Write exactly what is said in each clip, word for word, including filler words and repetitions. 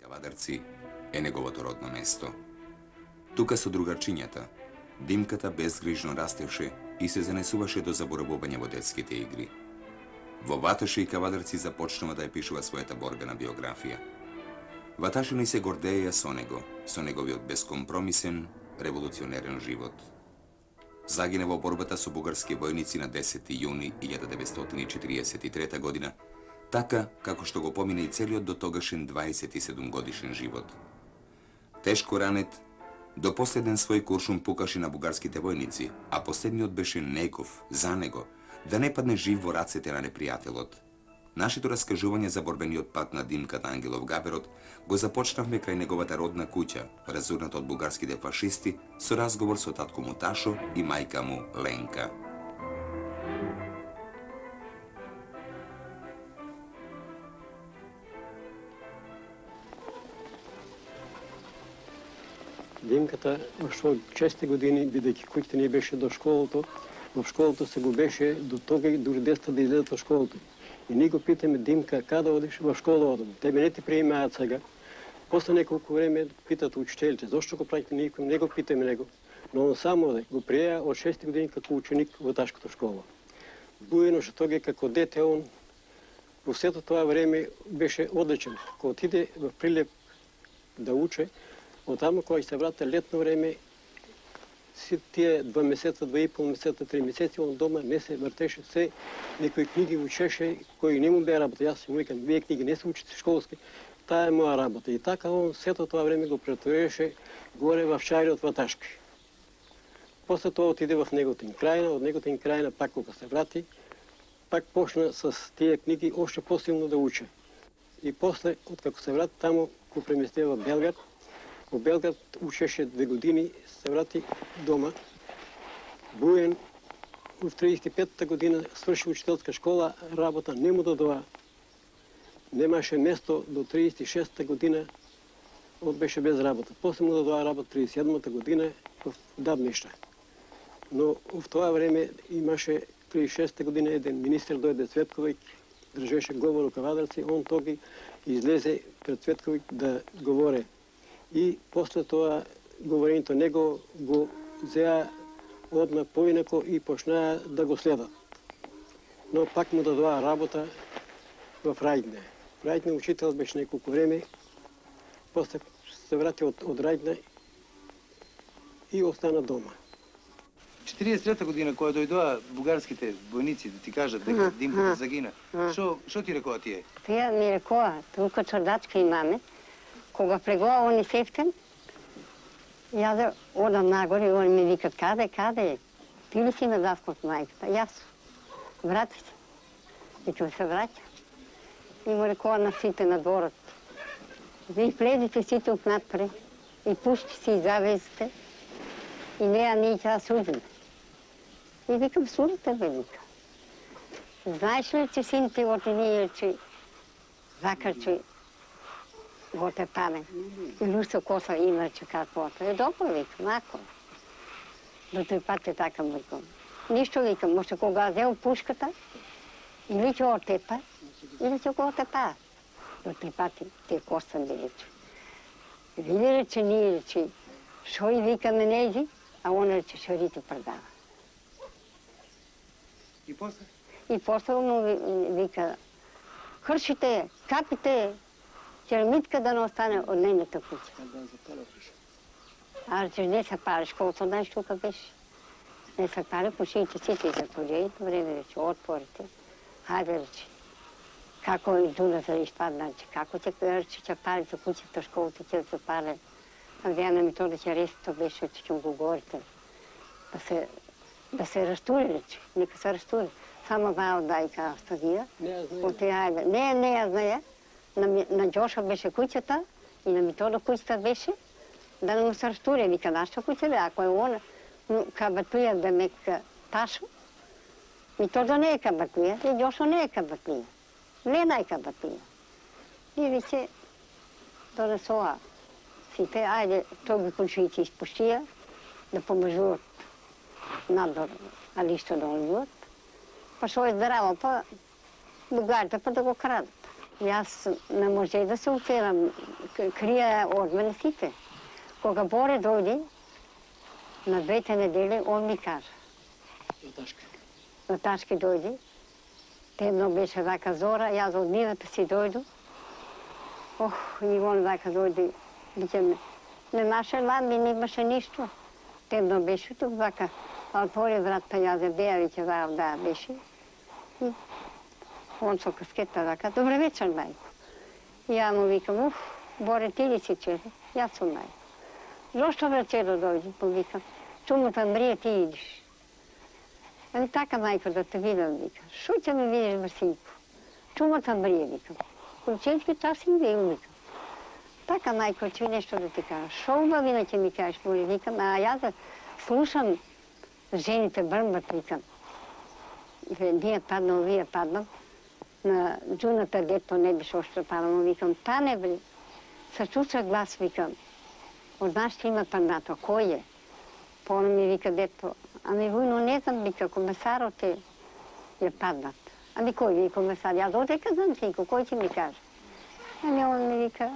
Кавадарци е неговото родно место. Тука со другарчињата, Димката безгрижно растеше и се занесуваше до заборавување во детските игри. Во Ваташа и Кавадарци започнува да ја пишува својата борбена биографија. Ваташани се гордееја со него, со неговиот безкомпромисен, револуционерен живот. Загина во борбата со бугарски војници на десети јуни илјада деветстотини и четиридесет и трета година, така како што го помина и целиот до тогашен дваесет и седум годишен живот. Тешко ранет, до последен свој куршум пукаше на бугарските војници, а последниот беше неков, за него, да не падне жив во рацете на непријателот. Нашето раскажување за борбениот пат на Димката Ангелов Габерот го започнавме крај неговата родна куќа, разурната од бугарските фашисти, со разговор со татко му Ташо и мајка му Ленка. Димката во шест години, бидејќи куќата не беше до школото, во школото се го беше до тога и дури децата да излезат од школото. И ние го питаме: Димка, каде одиш? Во школа одам. Тебе не ти приемаат сега. После неколку време питат учителите: зошто го правите? Никој не го питаме него. Но он само оде, го приеа од шест години како ученик во Ташката школа. Буено што тога како дете он во сето тоа време беше одличен. Кога отиде во Прилеп да уче, оттаму кога се врата летно време, си тие два месеца, два и пол месеца, три месеци, он дома не се вртеше, се некои книги учеше, кои не му бе работа. Јас му викам: вие книги не се учите школски, таа е моја работа. И така он сето тоа време го претвореше горе во Шајриот Ваташки. После тоа отиде во Неготин крајна, од Неготин крајна пак кога се врати, пак почна с тие книги още посилно да учи. И после, откако се врати таму, го премести во Белград. Во Белград учеше две години, се врати дома. Буен в триесет и петта година сврши учителска школа, работа не му додоа. Немаше место до триесет и шеста година, он беше без работа. После му додоа работа триесет и седмата година в Дабништа. Но в тоа време имаше триесет и шеста година еден министр дојде Цветковиќ, држеше говор у Кавадарци, он тоги излезе пред Цветковиќ да говоре. И после тоа говорењето него го зеа одма поинако и почнаа да го следат. Но пак му дадоа работа во Рајдне. Рајдне учител беше неколку време, после се врати од, од Рајдне и остана дома. четириесет трета година, кога дојдоа бугарските војници да ти кажат дека Димката загина, што што ти рекоа тие? Тие ми рекоа: тука чордачка имаме, кога плегува они сефтен, ја да одам нагоре и они ми викат: каде, каде? Ти ли си ме даскот мајката? Јас. Врати се. И ќе се враќа. И му рекоа на сите на дворот: ви влезите сите отнапре и пушти си завезите и неа ние ќе да судиме. И викам: судите бе, вика. Знаеш ли, че син ти оти ние, че закрчи го те паме. И лусо коса има, че каквото. Е, добро, викам, ако. До тој пат е така, викам. Ништо, викам, може кога взел пушката, или ќе отепа, или ќе го отепа. До тој пат те коса би рече. Види рече, ние рече, шо и викаме нези, а он рече, шо рите предава. И после? И после му вика: хршите, капите, керамитка да не остане од нейната куќа. А рече, не се париш, колко знаеш тука беше. Не се пари, пушите сите затворени, време рече, отворите. Хајде, рече, како и дуната да изпадна, рече, како ќе рече, ќе пари за куќата, школата ќе се пари. А вјана ми тоа да ќе ресто беше, че ќе го говорите. Да се, да се растури, рече, нека се растури. Само вао дајка стадија. Не, не ја знае. На, на Джоша беше куќата и на Митода куќата беше да не му се растури. Вика: нашата куќа бе, ако е она кабатуја да мек Ташо, Митода не е кабатуја и Джошо не е кабатуја. Лена е кабатуја. И веќе донесоа сите, ајде, тоа ги кучујци испуштија да помажуват надвор, али што да оливат. Па шо е здраво, па бугарите па да го крадат. Јас не може да се оферам, крија од мене сите. Кога Боре дојде, на двете недели, он ми кажа. Наташка. Наташки дојде. Темно беше вака зора, јас од нивата си дојду. Ох, и он вака дојде, биќе немаше ламби, немаше ништо. Темно беше тук вака, отвори врат, па јас е беја, веќе ваав да беше. И он со каскета вака, добре вечер, мајко. И ја му викам, уф, Боре, ти ли си черо? Јас сум мајко. Зошто бе черо дојде, повикам. Чумата мрие, ти идиш. Ами така, мајко, да те видам, викам. Шо ќе ме видиш, брсинко? Чумата мрие, викам. Полицейски час им бил, викам. Така, мајко, ќе нешто да ти кажа. Шо убавина ќе ми кажеш, Боре, викам. А јас да слушам жените брмбат, викам. Ние паднал, вие паднал. На джуната дето не беше още паднал, викам. Та не бе. Се чуша глас, викам. Од нас ще има паднато. Кој е? Поно ми вика дето. Ами војно не знам, вика, комесарот е, е паднат. Ами кој ви комесар? Јас одека знам синко, кој ќе ми каже? Ами он ми вика,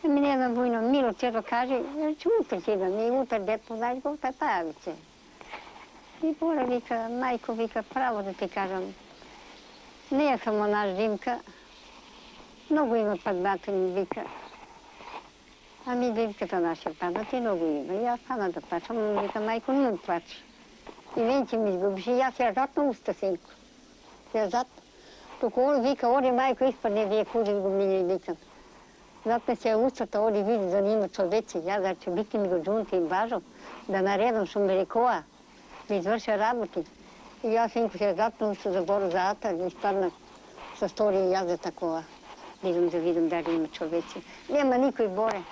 ами не знам војно, Мило Черо каже, че утре ќе идам, и утре дето, знаеш го, та пајави се. И Боре вика, мајко вика, право да ти кажам, не е само наш Димка, многу има паднатели, вика. Ами Димката наша паднати многу има. Јас стана да плачам, но вика, мајко, не му плачи. И венче ми изгубиш, и јас ја зат на уста, синко. Ја зат. Туку он вика, оди мајко, испадне, вие кузин го мини, викам. Затне се устата, оди види за нима човеци. Јас да ќе бити ми го джунти и бажо, да наредам шо ме рекоа, да изврша работи. И јас, синко, се зат на уста за Боро заата, и испадна со стори и јас за такова. Идам да видам дали има човеци. Нема никој, Боре.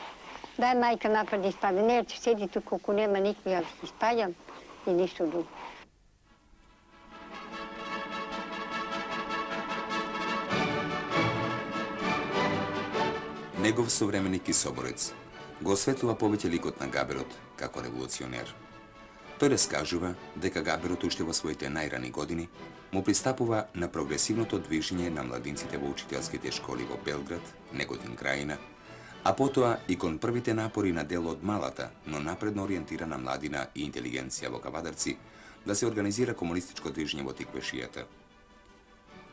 Дај мајка напред испаде. Не, че седи тук, колко нема никој, јас испаѓам и ништо друго. Негов современик и соборец го осветлува повеќе ликот на Габерот како револуционер. Тој раскажува дека Габерот уште во своите најрани години му пристапува на прогресивното движење на младинците во учителските школи во Белград, Неготин крајина, а потоа и кон првите напори на дел од малата, но напредно ориентирана младина и интелигенција во Кавадарци да се организира комунистичко движење во Тиквешијата.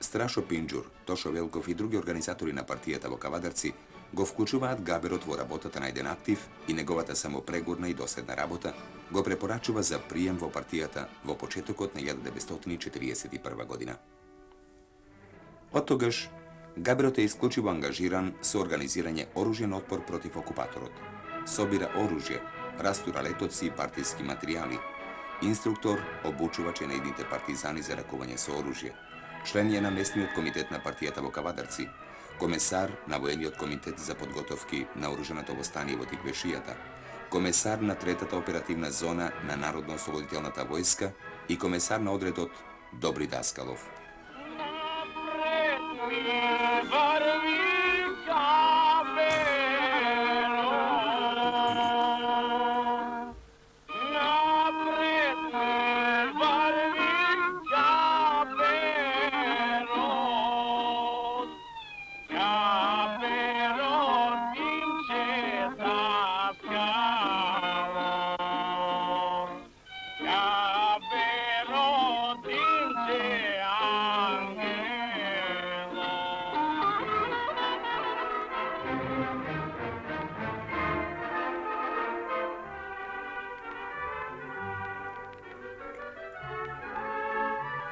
Страшо Пинџур, Тошо Велков и други организатори на партијата во Кавадарци го вклучуваат Габерот во работата на еден актив и неговата самопрегорна и доследна работа го препорачува за прием во партијата во почетокот на илјада деветстотини четириесет и прва година. Од тогаш, Габерот е исклучиво ангажиран со организирање оружјен отпор против окупаторот. Собира оружје, растура летоци и партиски материјали, инструктор обучува ченеидните партизани за ракување со оружје, член е на местниот комитет на партијата во Кавадарци, комесар на воениот комитет за подготовки на оруженото востание во Тиквешијата, комесар на третата оперативна зона на Народно-ослободителната војска и комесар на одредот Добри Даскалов.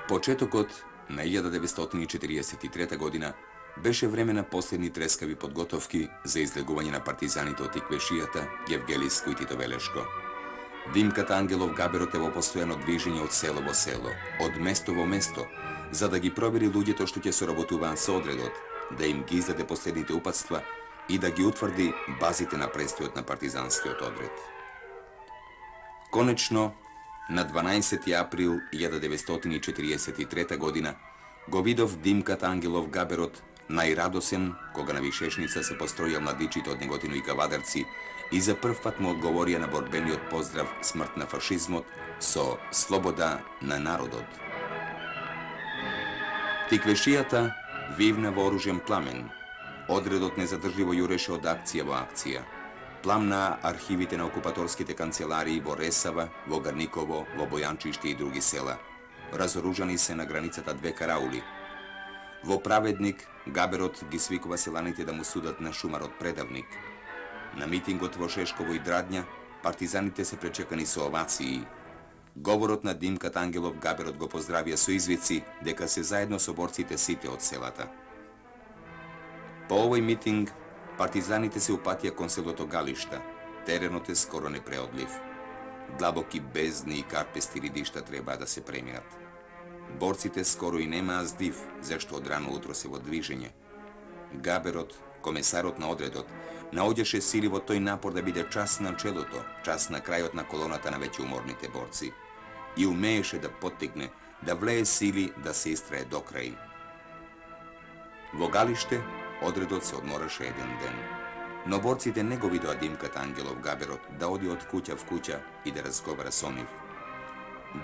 Почетокот на илјада деветстотини четириесет и трета година беше време на последни трескави подготовки за излегување на партизаните од Тиквешијата, Гевгелиско и Тито Велешко. Димката Ангелов Габерот е во постојано движење од село во село, од место во место, за да ги провери луѓето што ќе соработуваат со одредот, да им ги издаде последните упатства и да ги утврди базите на престојот на партизанскиот одред. Конечно, на дванаесети април илјада деветстотини четириесет и трета година го видов Димката Ангелов Габерот најрадосен кога на вишешница се построја младичите од Неготино и Кавадарци и за прв пат му одговорија на борбениот поздрав смрт на фашизмот со слобода на народот. Тиквешијата Вивна вооружен пламен. Одредот незадржливо јуреше од акција во акција. Пламна архивите на окупаторските канцеларии во Ресава, во Гарниково, во Бојанчиште и други села. Разоружани се на границата две караули. Во Праведник, Габерот ги свикува селаните да му судат на шумарот предавник. На митингот во Шешково и Драдња, партизаните се пречекани со овации. Говорот на Димката Ангелов Габерот го поздравија со извици дека се заедно со борците сите од селата. По овој митинг, партизаните се упатија кон селото Галишта. Теренот е скоро непреодлив. Длабоки бездни и карпести ридишта требаа да се преминат. Борците скоро и немаа здив, зашто од рано утро се во движење. Габерот, комесарот на одредот, наоѓаше сили во тој напор да биде час на челото, час на крајот на колоната на веќе уморните борци. И умееше да поттикне, да влее сили да се истрае до крај. Во Галиште, одредот се одмораше еден ден. Но борците не го видоа Димката Ангелов Габерот да оди од куќа в куќа и да разговара со нив.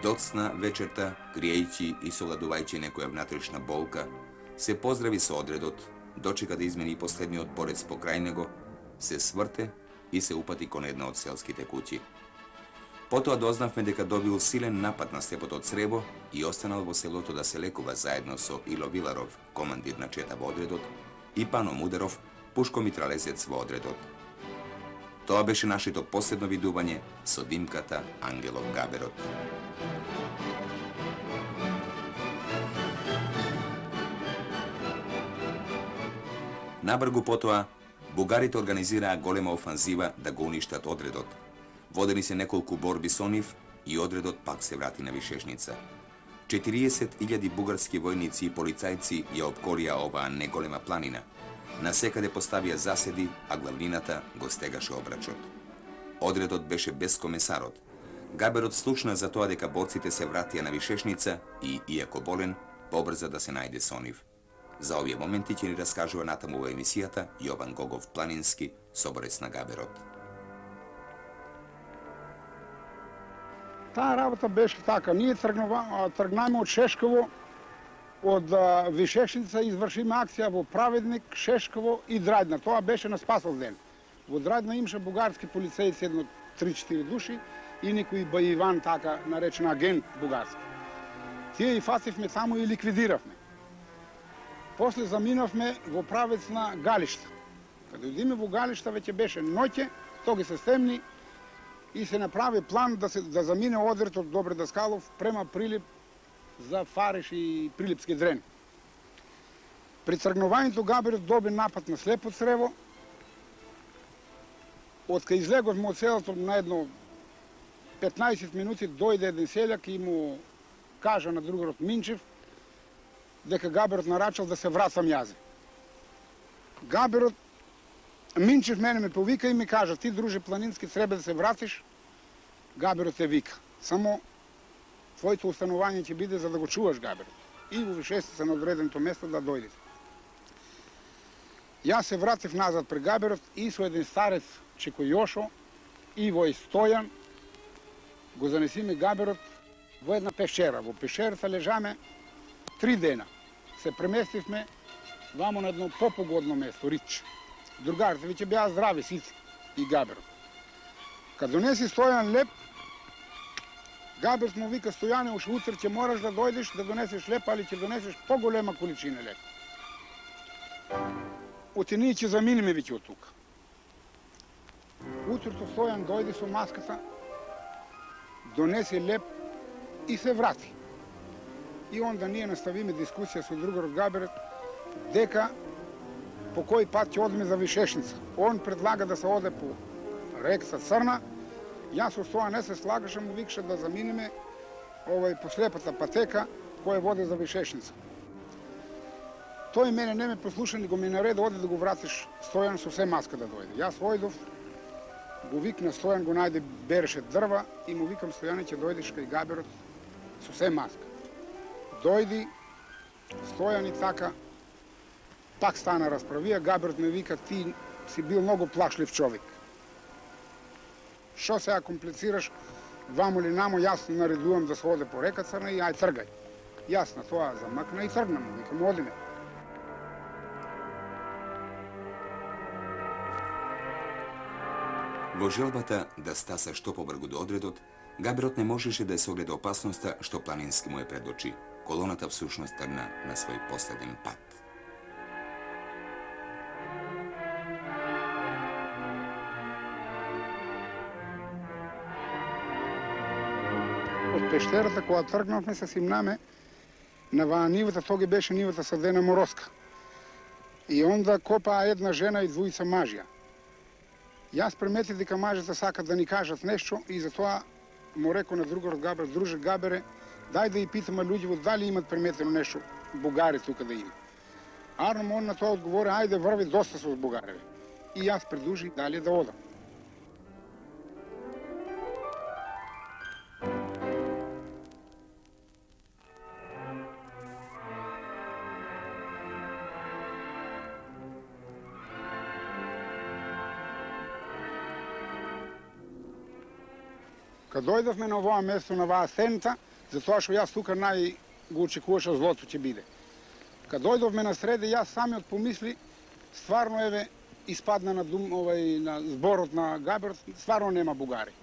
Доцна вечерта, криејќи и соладувајќи некоја внатрешна болка, се поздрави со одредот, дочека да измени последниот борец покрај него, се сврте и се упати кон една од селските куќи. Потоа дознавме дека добил силен напад на слепото црево и останал во селото да се лекува заедно со Ило Виларов, командир на чета во одредот, и Пано Мудеров, пушко-митралезец во одредот. Тоа беше нашето последно видување со Димката Ангелов Габерот. Набргу потоа, бугарите организираа голема офанзива да го уништат одредот. Водени се неколку борби со нив и одредот пак се врати на Вишешница. четириесет илјади бугарски војници и полицајци ја опкорија оваа неголема планина. Насекаде поставија заседи, а главнината го стегаше обрачот. Одредот беше без комесарот. Габерот слушна за тоа дека борците се вратија на Вишешница и, иако болен, побрза да се најде со нив. За овие моменти ќе ни раскажува натаму во емисијата Јован Гогов Планински, соборец на Габерот. Таа работа беше така. Ние тргнаме од Шешково, од Вишешница, извршиме акција во Праведник, Шешково и Драдња. Тоа беше на Спасов ден. Во Драдња имаше бугарски полицејци, едно три-четири души, и некој Бајиван, така наречен агент бугарски. Тие и фасивме таму и ликвидиравме. После заминавме во правец на Галишта. Каде одиме во Галишта веќе беше ноќе, тоги се стемни и се направи план да, се, да замине одредот од Добре Даскалов према Прилип за Фариш и Прилипски Дрен. При тргнувањето Габерот доби напад на слепо црево. Од кај излеговме од селото на едно петнаесет минути дојде еден селјак и му кажа на другарот Минчев дека Габерот нарачал да се вратам јазе. Габерот, Минчев мене ме повика и ми кажа: ти, друже Планински, треба да се вратиш. Габерот те вика. Само твоето установање ќе биде за да го чуваш Габерот. И во Вишешница на одреденото место да дојдете. Јас се вратив назад при Габерот и со еден старец Чеко Јошо и во Стојан го занесиме Габерот во една пешера. Во пешерата лежаме три дена. Се преместивме вамо на едно попогодно место, Рич. Другарите веќе беа здрави сите и Габерот. Кад донеси Стојан леп, Габерот му вика: Стојане, уште утре ќе мораш да дојдеш да донесеш леп, али ќе донесеш поголема количина леп. Оти ние ќе заминеме веќе од тука. Утрото Стојан дојде со маската, донесе леп и се врати. И онда ние наставиме дискусија со другарот Габерот дека по кој пат ќе одиме за Вишешница. Он предлага да се оде по реката Црна. Јас со тоа не се слагаше, му викаше да заминеме овај по слепата патека која води за Вишешница. Тој мене не ме послуша, ни го ми нареди: оди да го вратиш Стојан со се маска да дојде. Јас ојдов, го викна Стојан, го најде, береше дрва и му викам: Стојане, ќе дојдеш кај Габерот со се маска. Дојди, Стојан и така, пак стана расправија. Габерот ме вика: ти си бил многу плашлив човек. Шо сега комплицираш, вамо ли намо, јас наредувам да се оде по река Црна и ај тргај. Јас на тоа замакна и тргнам, викам: одиме. Во желбата да стаса што побргу до одредот, Габерот не можеше да ја согледа опасноста што планински му е пред очи. Колоната всушност тргна на свој последен пат. Од пештерата кога тргнавме се симнаме на ваа нивата, тоге беше нивата садена мороска. И онда копаа една жена и двојца мажја. Јас приметив дека мажите сакат да ни кажат нешто и затоа му реко на другарот Габер, друже Габере, дај да и питаме луѓето дали имат приметено нешто бугари тука да има. Арно он на тоа одговори, ајде врви, доста се од бугареви. И јас предужи дали да одам. Кад дојдовме на оваа место, на оваа сцената, затоа што јас тука нај го очекуваше злото ќе биде. Кад дојдовме на среде, јас самиот помисли, стварно еве испадна на дум, овај на зборот на Габер, стварно нема бугари.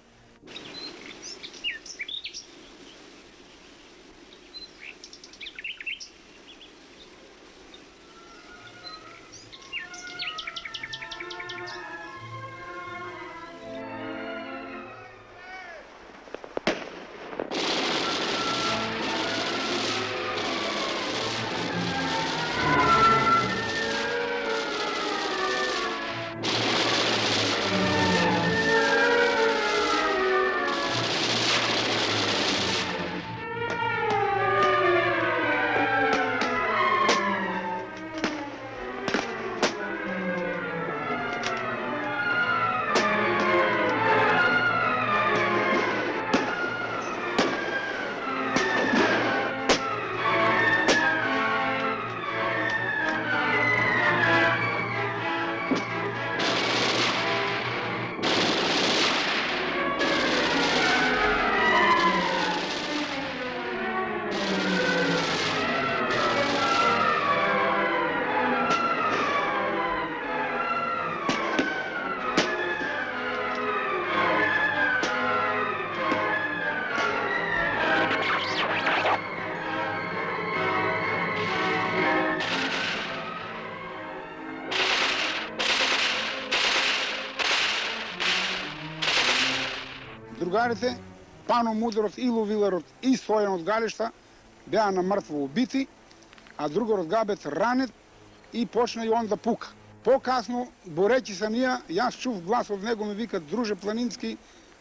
Другарите, Пано Мудерот, Ило Виларот и Стојан од Галишта беа на мртво убити, а другарот Габет ранет и почна и он да пука. Покасно, борејќи се ние, јас чув глас од него, ми вика, друже Планински,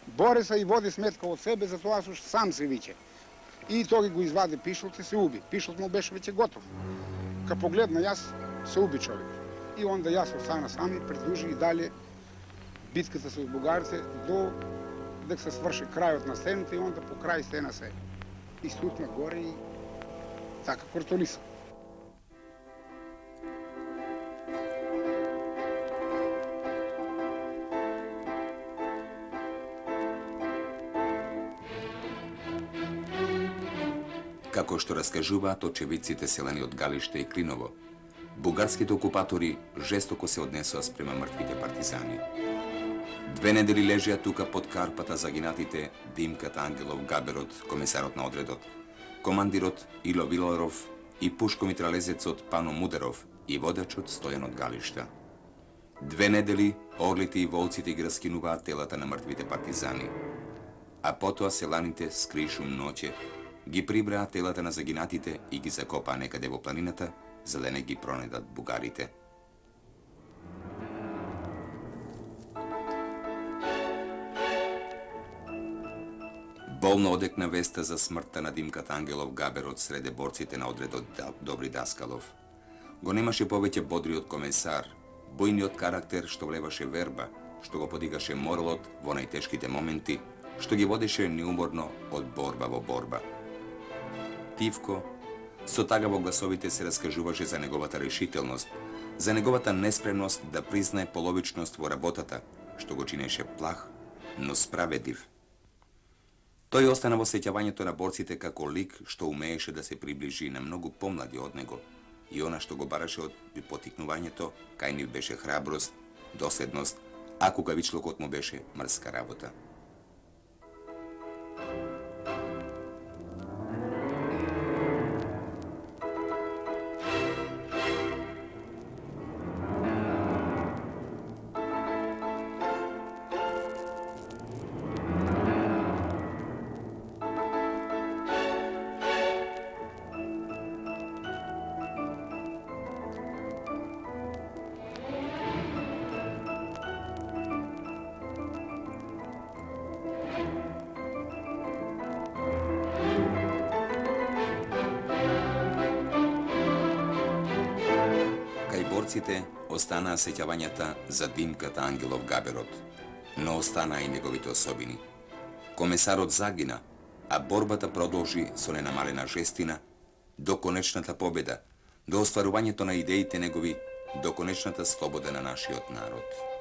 бори се и води сметка од себе, затоа што сам се виче. И тој го извади пишот и се уби. Пишот му беше веќе готов. Ка погледна јас, се уби човек. И онда јас остана сам и продолжи и дале битката со бугарците до дека се сврши крајот на стената и онда по крај стена се истутна горе и така кортолиса. Како што раскажуваат очевидците селени од Галиште и Клиново, бугарските окупатори жестоко се однесоа спрема мртвите партизани. Две недели лежеа тука под карпата загинатите Димката Ангелов Габерот, комесарот на одредот, командирот Ило Виларов и пушкомитралезецот Пано Мудеров и водачот Стојан од Галишта. Две недели орлите и волците ги раскинуваат телата на мртвите партизани, а потоа селаните скришум ноќе ги прибраа телата на загинатите и ги закопаа некаде во планината, за да не ги пронедат бугарите. Болно одекна веста за смртта на Димката Ангелов Габерот среде борците на одредот Добри Даскалов. Го немаше повеќе бодриот комесар, бојниот карактер што влеваше верба, што го подигаше моралот во најтешките моменти, што ги водеше неуморно од борба во борба. Тивко, со тага во гласовите се раскажуваше за неговата решителност, за неговата неспремност да признае половичност во работата, што го чинеше плах, но справедлив. Тој остана во сеќавањето на борците како лик што умееше да се приближи на многу помлади од него и она што го бараше од потикнувањето, кај нив беше храброст, доследност, а кукавичлокот му беше мрска работа. Борците останаа сеќавањата за Димката Ангелов Габерот, но останаа и неговите особини. Комесарот загина, а борбата продолжи со ненамалена жестина до конечната победа, до остварувањето на идеите негови, до конечната слобода на нашиот народ.